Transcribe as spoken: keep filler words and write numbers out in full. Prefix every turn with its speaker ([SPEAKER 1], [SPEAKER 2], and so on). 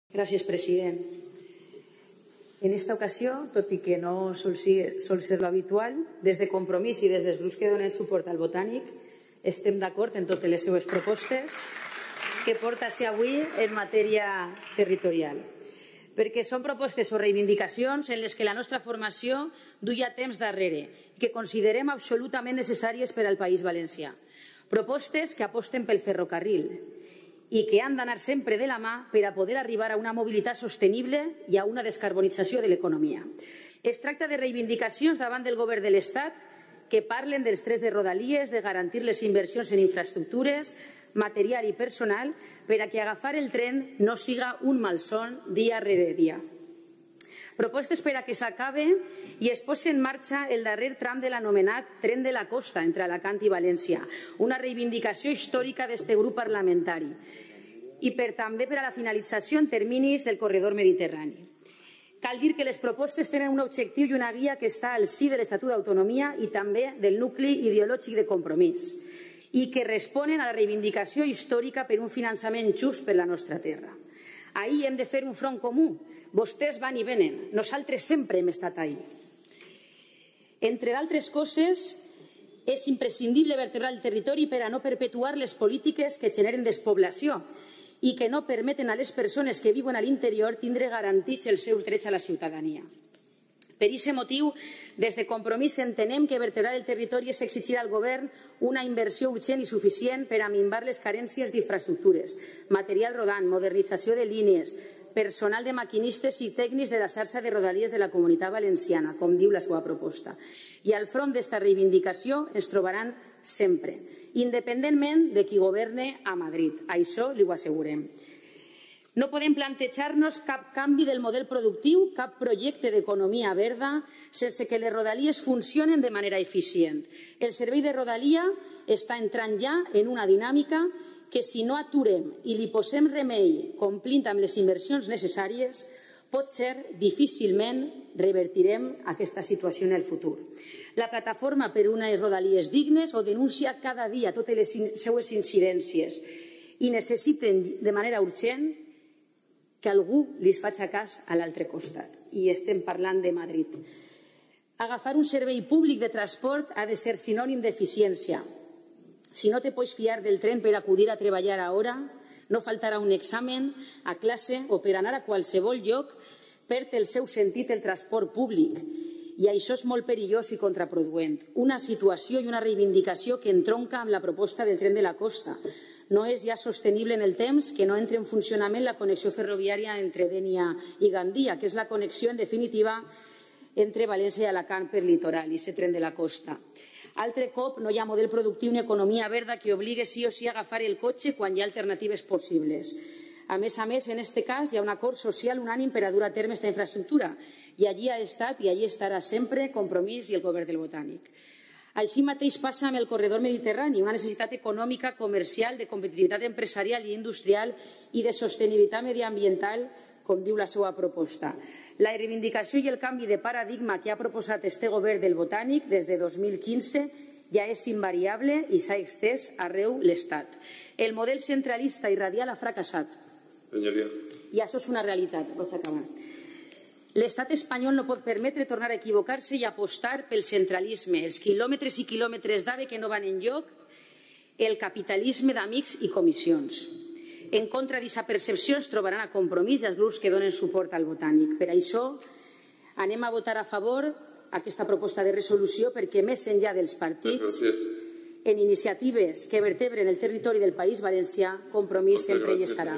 [SPEAKER 1] Gràcies, president. En esta ocasió, tot i que no sol ser, sol ser l'habitual, des de Compromís i des dels grups que donen suport al Botànic estem d'acord en totes les seues propostes que porta a ser avui en matèria territorial. Perquè són propostes o reivindicacions en les que la nostra formació duia temps darrere i que considerem absolutament necessàries per al País Valencià. Propostes que aposten pel ferrocarril i que han d'anar sempre de la mà per a poder arribar a una mobilitat sostenible i a una descarbonització de l'economia. Es tracta de reivindicacions davant del govern de l'Estat que parlen dels drets de Rodalies, de garantir les inversions en infraestructures, material i personal, per a que agafar el tren no siga un malson dia rere dia. Propostes per a que s'acabe i es posi en marxa el darrer tram de l'anomenat Tren de la Costa entre Alacant i València, una reivindicació històrica d'este grup parlamentari, i per també per a la finalització en terminis del corredor mediterrani. Cal dir que les propostes tenen un objectiu i una guia que està al si de l'Estatut d'Autonomia i també del nucli ideològic de Compromís i que responen a la reivindicació històrica per un finançament just per la nostra terra. Ahir hem de fer un front comú. Vostès van i venen. Nosaltres sempre hem estat ahí. Entre d'altres coses, és imprescindible vertebrar el territori per a no perpetuar les polítiques que generen despoblació i que no permeten a les persones que viuen a l'interior tindre garantits els seus drets a la ciutadania. Per aquest motiu, des de Compromís entenem que vertebrar el territori és exigir al govern una inversió urgent i suficient per a minvar les carències d'infraestructures, material rodant, modernització de línies, personal de maquinistes i tècnics de la xarxa de Rodalies de la Comunitat Valenciana, com diu la seva proposta. I al front d'esta reivindicació ens trobaran sempre, independentment de qui governe a Madrid. Això li ho assegurem. No podem plantejar-nos cap canvi del model productiu, cap projecte d'economia verda, sense que les Rodalies funcionen de manera eficient. El servei de Rodalia està entrant ja en una dinàmica que si no aturem i li posem remei complint amb les inversions necessàries, pot ser difícilment revertirem aquesta situació en el futur. La plataforma per unes Rodalies dignes ho denuncia cada dia totes les seues incidències i necessiten de manera urgent que algú li faci cas a l'altre costat. I estem parlant de Madrid. Agafar un servei públic de transport ha de ser sinònim d'eficiència. Si no te pots fiar del tren per acudir a treballar a hora, no faltarà un examen, a classe o per anar a qualsevol lloc, perd el seu sentit el transport públic. I això és molt perillós i contraproduent. Una situació i una reivindicació que entronca amb la proposta del tren de la costa. No és ja sostenible en el temps que no entre en funcionament la connexió ferroviària entre Dénia i Gandia, que és la connexió, en definitiva, entre València i Alacant per litoral, i aquest tren de la costa. Altre cop, no hi ha model productiu ni economia verda que obligue sí o sí a agafar el cotxe quan hi ha alternatives possibles. A més a més, en aquest cas, hi ha un acord social unànim per a dur a terme aquesta infraestructura, i allí ha estat i allí estarà sempre Compromís i el govern del Botànic. Així mateix passa amb el corredor mediterrani, una necessitat econòmica, comercial, de competitivitat empresarial i industrial i de sostenibilitat mediambiental, com diu la seva proposta. La reivindicació i el canvi de paradigma que ha proposat este govern del Botànic des de dos mil quinze ja és invariable i s'ha estès arreu l'Estat. El model centralista i radial ha fracassat. I això és una realitat. Vaig acabar. L'estat espanyol no pot permetre tornar a equivocar-se i apostar pel centralisme, els quilòmetres i quilòmetres d'AVE que no van enlloc, el capitalisme d'amics i comissions. En contra d'aquesta percepció ens trobaran a Compromís els grups que donen suport al Botànic. Per això anem a votar a favor aquesta proposta de resolució perquè més enllà dels partits, en iniciatives que vertebren el territori del País Valencià, Compromís sempre hi estarà.